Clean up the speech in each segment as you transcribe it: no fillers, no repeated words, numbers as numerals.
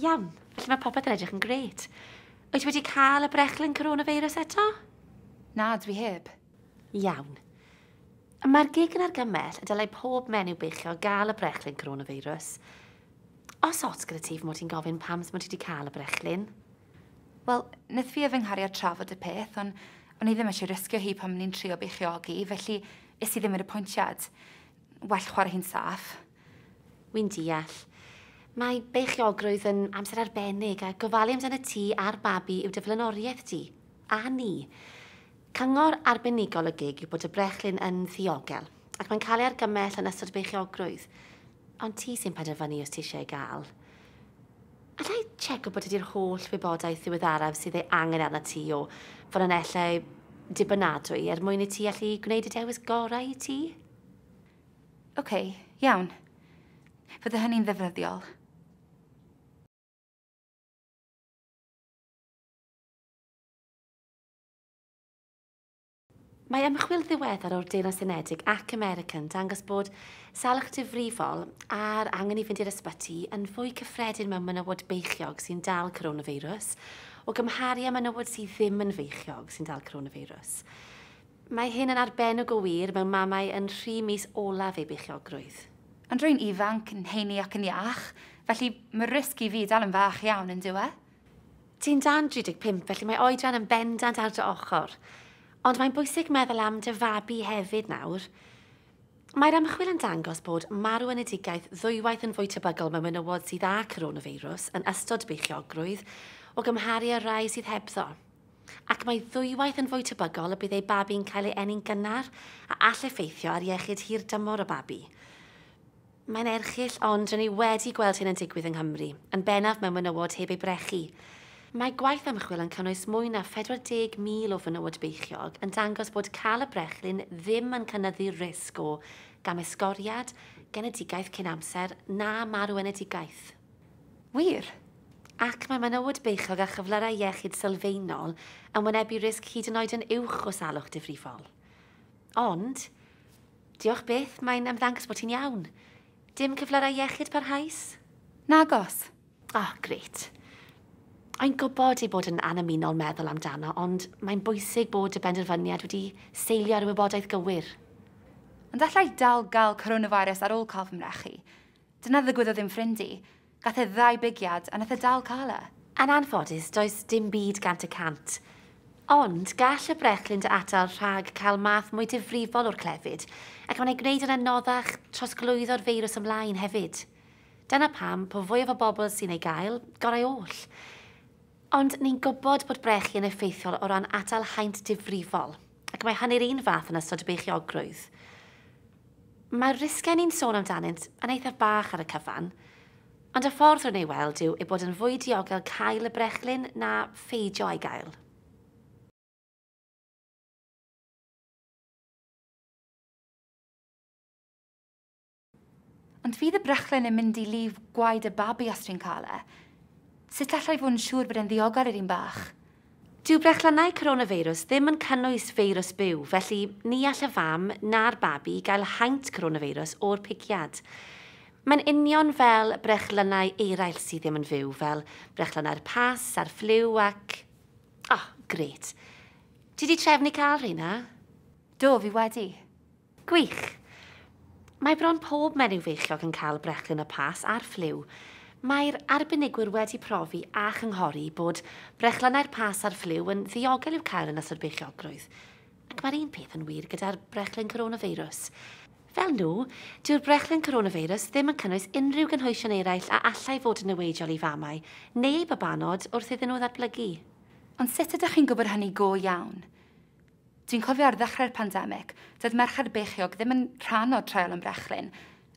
Iawn, felly mae popeth yn edrych yn grêt. Wyt ti wedi cael y brechlyn coronavirus eto? Na, dwi heb. Iawn. Mae'r GIG yn argymell y dylai pob menyw beichiog gael y brechlyn coronavirus. Os ots gyda ti fy mod i'n gofyn pam mod ti wedi cael y brechlyn? Wel, wnaeth fi a fy nghariad trafod y peth, ond o'n i ddim eisiau risgio hi pan o'n i'n trio beichiogi, felly es i ddim i'r apwyntiad. Well chwarae hi'n saff. Wi'n deall. Mae beichiogrwydd yn amser arbennig a gofalu amdano ti a'r babi yw dy flaenoriaeth di. A ni. Cyngor arbenigol y GIG yw bod y brechlyn yn ddiogel, ac mae'n cael ei argymell yn ystod beichiogrwydd. Ond ti sy'n penderfynu os ti eisiau ei gael. Alla i checo bod ydy'r holl wybodaeth ddiweddaraf sydd ei angen arna ti o ffynonellau dibynadwy er mwyn i ti allu gwneud y dewis gorau i ti? OK, iawn. Fydde hynny'n ddefnyddiol. Mae ymchwil ddiweddar o'r Deyrnas Unedig ac America'n dangos bod salwch difrifol a'r angen i fynd i'r ysbyty yn fwy cyffredin mewn menywod beichiog sy'n dal coronavirus o gymharu â menywod sydd ddim yn feichiog sy'n dal coronavirus. Mae hyn yn arbennig o wir mewn mamau yn rhi mis olaf eu beichiogrwydd. Ond rwy'n ifanc, yn heini ac yn iach, felly mae risg i fi dal yn fach iawn yn dyw e? Ti'n dan 35, felly mae oedran yn bendant ar dy ochr. Ond mae'n bwysig meddwl am dy fabi hefyd nawr. Mae'r ymchwil yn dangos bod marw-enedigaeth ddwywaith yn fwy tebygol mewn menywod sydd â coronavirus yn ystod beichiogrwydd o gymharu â rai sydd hebddo. Ac mae ddwywaith yn fwy tebygol y bydd ei babi'n cael ei eni'n gynnar a all effeithio ar iechyd hir dymor y babi. Mae'n erchyll, ond rydyn ni wedi gweld hyn yn digwydd yng Nghymru, yn bennaf mewn menywod heb ei brechu. Mae gwaith ymchwil yn cynnwys mwy na 40,000 o fenywod beichiog yn dangos bod cael y brechlyn ddim yn cynyddu'r risg o gamesgoriad, genedigaeth cyn amser na marw-enedigaeth. Wir? Ac mae menywod beichiog â chyflyrau iechyd sylfaenol yn wynebu risg hyd yn oed yn uwch o salwch difrifol. Ond, diolch byth, mae'n ymddangos bod ti'n iawn. Dim cyflyrau iechyd parhaus? Nagos. Oh, grêt. Mae'n gwybod ei bod yn annymunol meddwl amdano, ond mae'n bwysig bod y benderfyniad wedi seilio ar y wybodaeth gywir. Ond allai dal gael coronavirus ar ôl cael fy mrechu. Dyna ddigwyddodd i'm ffrind i. Gath e ddau bigiad a nath e dal cael e. Yn anffodus, does dim byd 100%. Ond gall y brechlyn dy atal rhag cael math mwy difrifol o'r clefyd, ac mae'n ei gwneud yn anoddach trosglwyddo'r feirws ymlaen hefyd. Dyna pam, po fwyaf o bobl sy'n ei gael, gorau oll. Ond ni'n gwybod bod brechu yn effeithiol o ran atal haint difrifol, ac mae hynny'r un fath yn ystod y beichiogrwydd. Mae'r risgau ni'n sôn amdanynt yn eithaf bach ar y cyfan, ond y ffordd rwy'n ei weld yw ei bod yn fwy diogel cael y brechlyn na pheidio â'i gael. Ond fydd y brechlyn yn mynd i lif gwaed y babi os dwi'n cael e? Sut allai fod yn siŵr bod e'n ddiogel i'r un bach? Dyw brechlynnau coronavirus ddim yn cynnwys feirws byw, felly ni all y fam na'r babi gael haint coronavirus o'r pigiad. Mae'n union fel brechlynnau eraill sydd ddim yn fyw, fel brechlynnau'r pas a'r ffliw ac... Oh, grêt. Ti 'di trefnu cael rheina? Do, fi wedi. Gwych. Mae bron pob menyw feichiog yn cael brechlyn y pas a'r ffliw. Mae'r arbenigwyr wedi profi a chynghori bod brechlynnau'r pas a'r ffliw yn ddiogel i'w cael yn ystod beichiogrwydd. Ac mae'r un peth yn wir gyda'r brechlyn coronavirus. Fel nhw, dyw'r brechlyn coronavirus ddim yn cynnwys unrhyw gynhwysion eraill a allai fod yn niweidiol i famau neu babanod wrth iddyn nhw ddatblygu. Ond sut ydych chi'n gwybod hynny go iawn? Dwi'n cofio ar ddechrau'r pandemig, doedd merched beichiog ddim yn rhan o'r treial am brechlyn,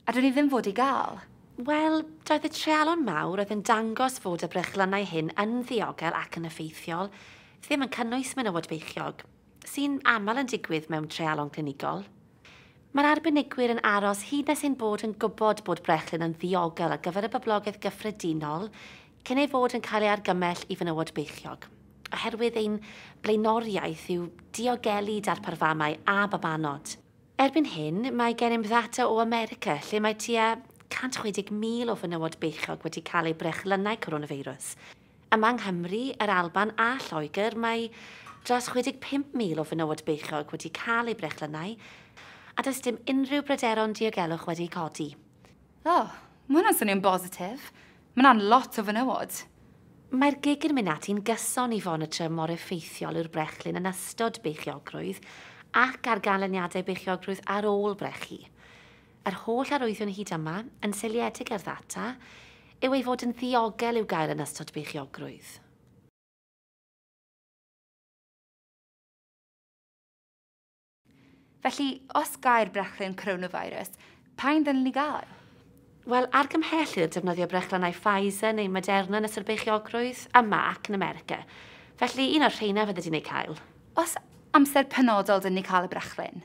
a do'n i ddim fod i gael. Wel, doedd y treialon mawr oedd yn dangos fod y brechlynnau hyn yn ddiogel ac yn effeithiol ddim yn cynnwys menywod beichiog, sy'n aml yn digwydd mewn treialon clinigol. Mae'r arbenigwyr yn aros hyd nes ein bod yn gwybod bod brechlyn yn ddiogel ar gyfer y boblogaeth gyffredinol cyn ei fod yn cael ei argymell i fenywod beichiog, oherwydd ein blaenoriaeth yw diogelu darpar famau a babanod. Erbyn hyn, mae gennym ddata o America lle mae tua 160,000 o fenywod beichiog wedi cael eu brechlynnau coronavirus. Yma yng Nghymru, yr Alban a Lloegr, mae dros 65,000 o fenywod beichiog wedi cael eu brechlynnau, a does dim unrhyw bryderon diogelwch wedi codi. O, oh, mae hwnna'n swnio'n bositif. Mae hwnna'n lot o fenywod. Mae'r GIG yn mynd ati'n gyson i fonitro mor effeithiol yw'r brechlyn yn ystod beichiogrwydd ac ar ganlyniadau beichiogrwydd ar ôl brechu. Yr holl arwyddion hyd yma, yn seiliedig ar ddata, yw ei fod yn ddiogel i'w gael yn ystod beichiogrwydd. Felly, os gair brechlyn coronavirus, pa un ddylen ni gael? Wel, argymhellir defnyddio brechlynnau Pfizer neu Moderna yn ystod beichiogrwydd, yma ac yn America. Felly, un o'r rheina fydde di'n ei cael. Os amser penodol dyn ni cael y brechlyn,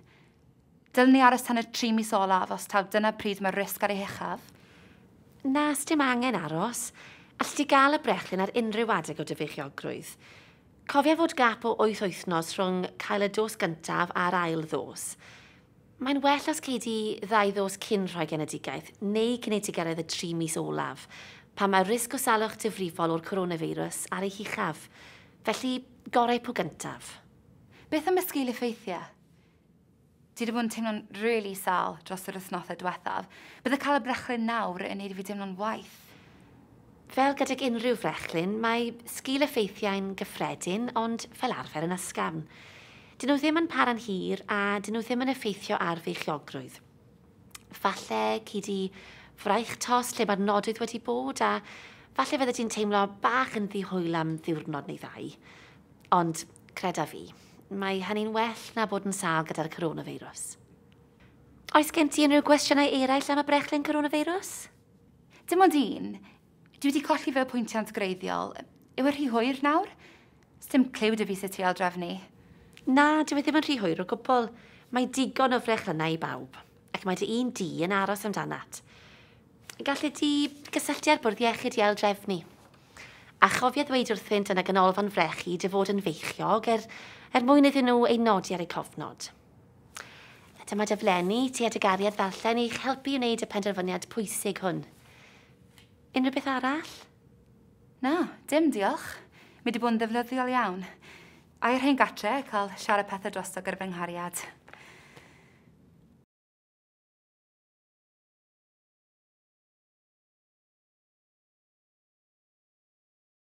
dylen ni aros tan y 3 mis olaf os taw dyna pryd mae'r risg ar ei huchaf? Na, sdim angen aros. Alli di gael y brechlyn ar unrhyw adeg o dy feichiogrwydd. Cofia fod gap o 8 wythnos rhwng cael y dos gyntaf a'r ail ddos. Mae'n well os cei di 2 ddos cyn rhoi genedigaeth neu cyn i ti gyrraedd y 3 mis olaf, pan mae risg o salwch difrifol o'r coronavirus ar ei huchaf. Felly, gorau po gyntaf. Beth am y sgil effeithiau? Dwi wedi bod yn teimlo'n really sâl dros yr wythnosau diwethaf. Bydde cael y brechlyn nawr yn neud i fi deimlo'n waeth. Fel gydag unrhyw frechlyn, mae sgil effeithiau'n gyffredin, ond fel arfer yn ysgafn. Dyn nhw ddim yn para'n hir a dyn nhw ddim yn effeithio ar feichiogrwydd. Falle cei di fraich tost lle mae'r nodwydd wedi bod a falle fydde ti'n teimlo bach yn ddihwyl am ddiwrnod neu ddau. Ond creda fi, mae hynny'n well na bod yn sâl gyda'r coronavirus. Oes gen ti unrhyw gwestiynau eraill am y brechlyn coronavirus? Dim ond un. Dwi wedi colli fy apwyntiad gwreiddiol. Yw e rhy hwyr nawr? Sdim cliw 'da fi sut i aildrefnu. Na, dyw e ddim yn rhy hwyr o gwbl. Mae digon o frechlynnau i bawb, ac mae dy un di yn aros amdanat. Gallu di gysylltu â'r bwrdd iechyd i aildrefnu. A chofia ddweud wrthynt yn y ganolfan frechu dy fod yn feichiog er mwyn iddyn nhw ei nodi ar eu cofnod. Dyma daflenni ti a dy gariad ddarllen i'ch helpu i wneud y penderfyniad pwysig hwn. Unrhyw beth arall? Na, dim diolch. Mae wedi bod yn ddefnyddiol iawn. A i'r rhain gatre, cael siarad pethau drosto gyda fy nghariad.